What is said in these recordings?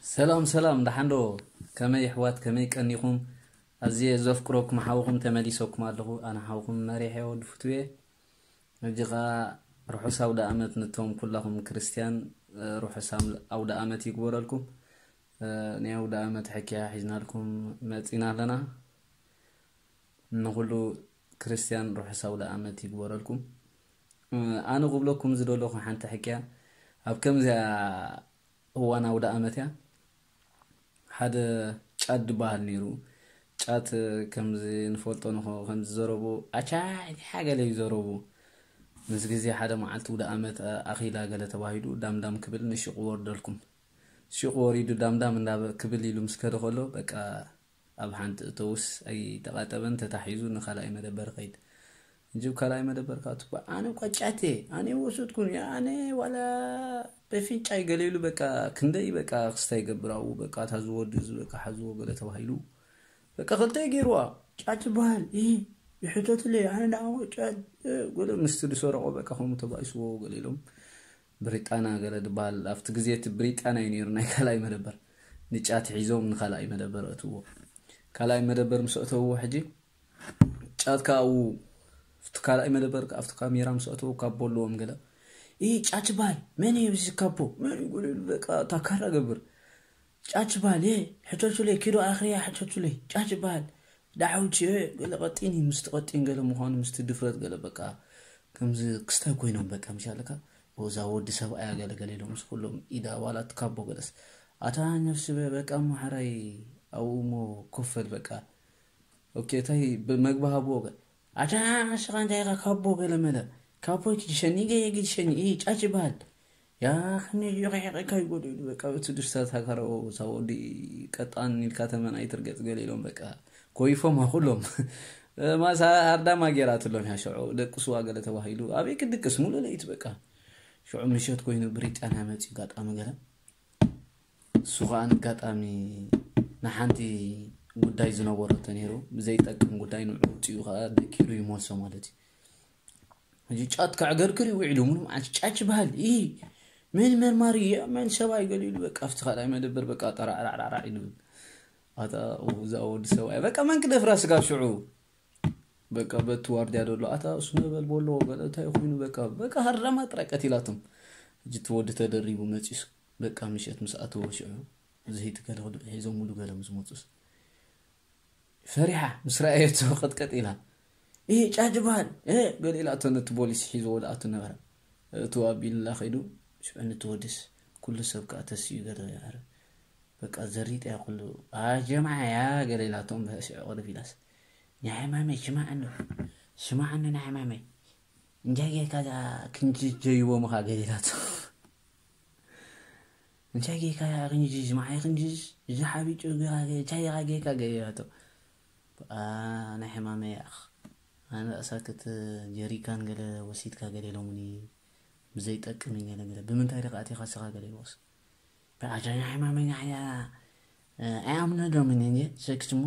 ሰላም ሰላም፣ ደሓን ዶ? ከመይ ኣሕዋት፣ ከመይ ቀኒኹም? ኣዝየ ዘፍቅረኩም ሓውኹም ተመሊሰኩም ኣለኹ። ኣነ ሓውኹም መሪሕ ወዲ ፍትዌ። ሕጂ ኸኣ ርሑስ ኣውደ ኣመት ነቶም ኩላኹም ክርስትያን፣ ርሑስ ኣም-፣ ኣውደ ኣመት ይግበረልኩም። ናይ ኣውደ ኣመት ሕክያ ሒዝናልኩም መጺና ኣለና። ንኹሉ ክርስትያን ርሑስ ኣውደ ኣመት ይግበረልኩም። ኣነ ክብለኩም ዝደለኹ ሓንቲ ሕክያ፣ ኣብ ከምዚኣ እዋን ኣውደ ኣመት እያ። ሓደ ጫት ዝበሃል ነይሩ። ጫት ከምዚ ንፈልጦ ንኾ፣ ከምዚ ዘረቡ ኣቻ ሓገለ እዩ ዘረቡ። ምስ ግዜ ሓደ መዓልቲ ውደ ኣመት ኣኺላ ገለ ተባሂሉ ዳምዳም ክብል ንሽቕ ወርደልኩም። ሽቕ ወሪዱ ዳምዳም እንዳ ክብል ኢሉ ምስ ከደ ከሎ በቃ ኣብ ሓንቲ እተውስ ኣይተቓጠበን፣ ተታሒዙ ንኻልኣይ መደበር ኸይድ። እንጂ ካልኣይ መደበር ከኣ ትባ ኣነ እኳ ጫቴ ኣነ ወሰድኩን ኣነ ዋላ በፊንጫይ ገለ ኢሉ በቃ ክንደይ በቃ ክስታይ ይገብር ኣብኡ በቃ እታ ዝወዲ እዚ በቃ ሓዝዎ ገለ ተባሂሉ በቃ ክልተ ገይርዋ። ጫት ዝበሃል እ ይሕተትለይ ኣነ ንዓኡ ጫት እ፣ ገለ ምስቲ ዝሰረቆ በቃ ከምኡ ተባኢስዎ ገለ ኢሎም ብሪጣና ገለ ዝበሃል ኣብቲ ግዜ እቲ ብሪጣና እዩ ነይሩ ናይ ካልኣይ መደበር ንጫት ሒዞም ንካልኣይ መደበር እትዎ ካልኣይ መደበር ምስ እተውዎ ሕጂ ጫት ከኣ ኣብኡ ኣብቲ ካልኣይ መደበር ከኣ ኣብቲ ካሜራ ምስ ኣተዉ ካቦ ኣለዎም ገለ። "ኢ ጫት ይበሃል። መን እዩ እዚ ካቦ? መን እዩ?" ገለ ኢሉ በቃ እታ ካራ ገብር። "ጫት ይበሃል። እ፣ ሕተቱለይ፣ ኪዶ ኣኽርያ ሕተቱለይ። ጫት ይበሃል። ዳሓውቲ፣ እ፣ ገለ ቀጢን እዩ። ምስቲ ቀጢን ገለ ምዃኑ፣ ምስቲ ድፍረት ገለ በቃ ከምዚ ክስታይ ኮይኖም በቃ ምሽ ኣለካ። እዛ ወዲ ሰብኣያ ገለ ገለ ኢሎም ምስ ኩሎም ኢዳ ዋላ እቲ ካቦ ገለስ። ኣታ ነፍሲ በ-፣ በቃ እሞ ሓራይ ኣብኡ እሞ ኮፈል በቃ። ኦኬ፣ እንታይ ብ-፣ መግቢ ሃብዎ ገ-፣ ኣታ ንስኻ እንታይ ኢኻ ካቦ ገለ መለ። ካቦ ትድሸኒ ገየ ግድሸኒ፣ እ፣ ጫጭ ይበሃል። ያ ከመይ እዩ ርሒቕካ ይጎድኡ ኢሉ በቃ፣ እቲ ድስታት ሃካሮ፣ እዛ ወዲ ቀጣን ኢልካ ተመን ኣይትርገጽ ገለ ኢሎም በቃ፣ ኮይፎም ኩሎም። ማሳ ሃርዳማ ጌራትሎም እያ ሽዑ፣ ደቅስዋ ገለ ተባሂሉ፣ ኣበይ ክድቅስ፣ ሙሉእ ለይት በቃ። ሽዑ ምሸት ኮይኑ ብሪጣንያ መጺኡ፣ ጋጣሚ ገለ። እሱ ኸኣ ንጋጣሚ ንሓንቲ ጉዳይ ዝነበረቶ ነይሩ፣ ብዘይጠቅም ጉዳይ ንዕኡ ውጽኡ ኸኣ ደቂሩ ይመልሶ ማለት እዩ። ሕጂ ጫት ከዕገርግር እዩ ውዒሉ፣ ምንም ዓይነት ጫት ይበሃል፣ እ፣ መን መርማሪ እዩ፣ መን ሰብኣይ ገለ ኢሉ፣ በቃ፣ ኣብቲ ካልኣይ መደበር፣ በቃ፣ ጠራዕራዕራዕ ኢሉ። ኣታ፣ እዛ ወዲ ሰብኣይ፣ በቃ፣ መን ክደፍራ ስጋብ ሽዑ? በቃ፣ በቲ ዋርድያ ዘሎ፣ ኣታ፣ እሱ ነበል በሎ፣ ገለ እንታይ ኮይኑ፣ በቃ፣ በቃ፣ ሃርዳማ ጥራይ ቀቲላቶም። ሕጂ እቲ ወዲ ተደሪቡ መጺሱ፣ በቃ፣ ምሸት ምስ ኣተወ ሽዑ፣ ዝሂቲ ገለ ክልኡ ሒዞምሉ ገለ ምስ መጹስ፣ ፈሪሓ ምስ ረኣየቶ ቅጥቅጥ ኢላ፣ "እ፣ ጫት ዝበሃል፣ እ!" ገለ ኢላቶ ነቲ ፖሊስ ሒዝዎ ዝኣቱ ነበረ። እቱ ኣቢሉላ ከይዱ፣ ሽዑ ነቲ ወድስ ኩሉ ሰብ ከኣ ተሲኡ ገለ ይዕረ። በቃ ዘሪጥ እያ ኩሉ። "ኣ፣ ጀምዓ እያ" ገለ ኢላቶም ሽዑ ቅርብ ኢላስ፣ "ናይ ሕማመይ ስማዕኒ፣ ስማዕኒ ናይ ሕማመይ። እንታይ ጌርካ እዛ ክንጅ ጀይቦምኻ?" ገለ ኢላቶ። "እንታይ ጌርካ ያ ክንጅዝ፣ ማዓይ ክንጅዝ፣ እዚ ሓቢጡ ጌራ ገ-፣ እንታይ ኢኻ ጌርካ?" ገለ ኢላቶ። "ኣ፣ ናይ ሕማመይ ያኽ። ኣነ ርእሳክት ጀሪካን ገለ ወሲድካ ገለ ኢሎምኒ፣ ብዘይጠቅም እዩ ገለ ገለ። ብምንታይ ዲኻ ኣቲኻ ስኻ?" ገለ ኢልዎስ። "ብኣታ ናይ ሕማመይ ንዓያ፣ እ፣ ኣይኣምነሎምን እንጂ፣ ሰክት እሞ፣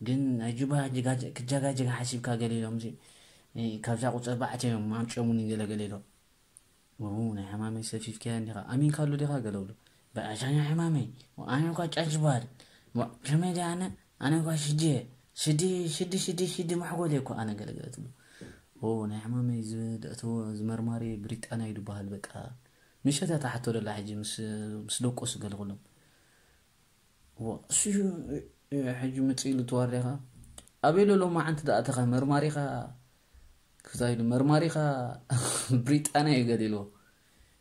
ግን ኣጁባ ጅጋ-፣ ክጃጋጀጋ ሓሲብካ ገለ ኢሎምሲ፣ እ፣ ካብዛ ቁጽሪ ኣርባዕተ እዮም ኣምጺኦሙኒ ገለ ገለ ኢሎም። ው፣ ናይ ሕማመይ ሰፊፍካያ እንዲኻ፣ ኣሚንካሉ ዲኻ?" ገለ ብሎ። "በኣሻ ናይ ሕማመይ፣ ኣነ እኳ ጫጭ በሃል። ዋ፣ ከመይ ድየ ኣነ? ኣነ እኳ ሽዲ እየ። ሽዲ፣ ሽዲ፣ ሽዲ፣ ሽዲ ማሕጎል እየ እኮ ኣነ" ገለ ገለ ትብሎ። ው፣ ናይ ሕማመይ ዝ-፣ ደእተዎ፣ ዝመርማሪ ብሪጣንያ እዩ ዝበሃል፣ በቃ። ምሸት እያ ትሓቶ ደላ ሕጂ ምስ፣ ምስ ደቆሱ ገለ ኩሎም። ዋ፣ እሱ እዩ፣ እ፣ ሕጂ ምጽእ ኢሉ ተዋሪኻ። ኣበይ ሎ ሎማዓንቲ ደኣ ኣተኻ መርማሪኻ፣ ክፍታ ኢሉ መርማሪኻ ብሪጣንያ እዩ ገለ ኢልዎ።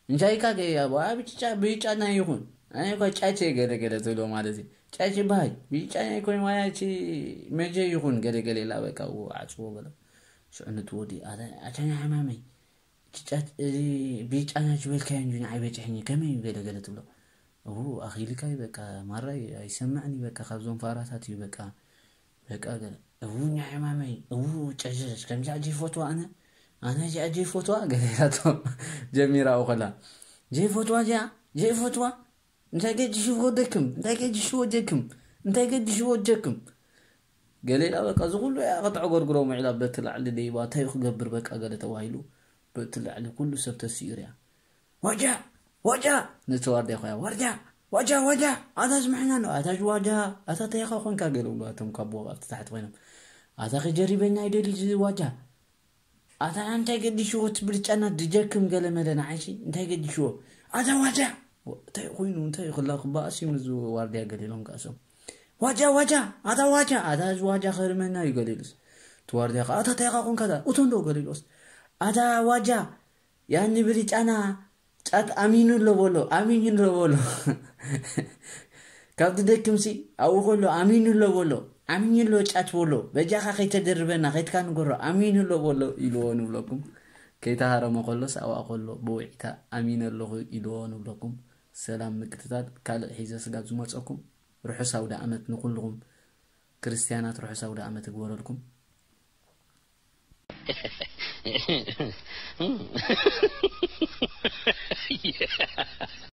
እንታይ ኢልካ ገለ ኢልዎ፣ ዋ፣ ብጫ፣ ብጫ ናይ ይኹን። ኣነ እኳ ጫቼ ገለ ገለ ትብሎ ማለት እዩ። ጫቼ በሃይ፣ ብጫ ናይ ኮይኑ ዋላ እቲ መጀ ይኹን ገለ ገለ ኢላ በቃ፣ ው፣ ዓጽዎ በለ። ሽዑ ነቲ ወዲ፣ ኣታ፣ ኣታ ናይ ሕማመይ፣ እቲ ጫት፣ እዚ ብጫ ናት ዝበልካዮ እንጂ ንዓይ በጺሕኒ፣ ከመይ እዩ ገለ ገለ ትብሎ። እው፣ ኣኺልካ እዩ በቃ፣ ማራ እዩ፣ ኣይሰምዕን እዩ በቃ፣ ካብዞም ፋራታት እዩ በቃ፣ በቃ ገለ። እው፣ ናይ ሕማመይ፣ እው፣ ጨዘዝ፣ ከምዚኣ ዘይፈትዋ ኣነ፣ ኣነ እዚኣ ዘይፈትዋ፣ ገለ ኢላቶ ጀሚራኡ ከላ። ዘይፈትዋ እዚኣ፣ ዘይፈትዋ፣ እንታይ ገዲሽዎ ደክም፣ እንታይ ገዲሽዎ ጀክም፣ እንታይ ገዲሽዎ ጀክም። ገለ ኢላ በቃ፣ እዚ ኩሉ እያ ከተዕጎርጉሮም ውዒላ፣ በቲ ላዕሊ ደይባ፣ እንታይ ክገብር በቃ፣ ገለ ተባሂሉ፣ በቲ ላዕሊ ኩሉ ሰብ ተሲኡ ሪኣ። "ዋጃ! ዋጃ!" ነቲ ዋርድያ ኮያ፣ "ዋርድያ! ዋጃ ዋጃ፣ ኣታ ስምዕና ነው ኣታ ዋጃ፣ ኣታ እንታይ ኢኻ ኮንካ ገለ ብሉ ኣቶም ካብ ቦቕ ኣብቲ ታሕቲ ኮይኖም። ኣታ ክጀሪበና ይደሊ እዚ ዋጃ። ኣታ እንታይ ገዲሽዎ ትብል ጨና ድጀክም ገለ መለ ንዓይሲ እንታይ ገዲሽዎ? ኣታ ዋጃ እንታይ ኮይኑ እንታይ ክላ ክባኣስ እዩ ምዝ ዋርድያ ገሊሎም ካሶም። ዋጃ ዋጃ፣ ኣታ ዋጃ፣ ኣታ እዚ ዋጃ ከርመና እዩ ገሊሉስ። ትዋርድያ ኣታ እንታይ ኢኻ ኮንካ እቶ እንዶ ገሊሉስ። ኣታ ዋጃ ያኒ ብሪጫና ጫት ኣሚኑ ኣሎ በሎ ኣሚኑ ኣሎ በሎ። ካብ ትደክምሲ ኣብኡ ከሎ ኣሚኑ ኣሎ በሎ። ኣሚኑ ኣሎ ጫት በሎ። በጃኻ ከይተደርበና ከይትካ ንገሮ ኣሚኑ ኣሎ በሎ ኢልዎ ንብለኩም። ከይተሃረመ ከሎስ ኣብኣ ከሎ ብውዒታ ኣሚነ ኣለኹ ኢልዎ ንብለኩም። ሰላም ምቅትታል ካልእ ሒዘ ስጋብ ዝመፀኩም ርሑስ ኣውደ ኣመት ንኩልኹም ክርስትያናት ርሑስ ኣውደ ኣመት እግበረልኩም።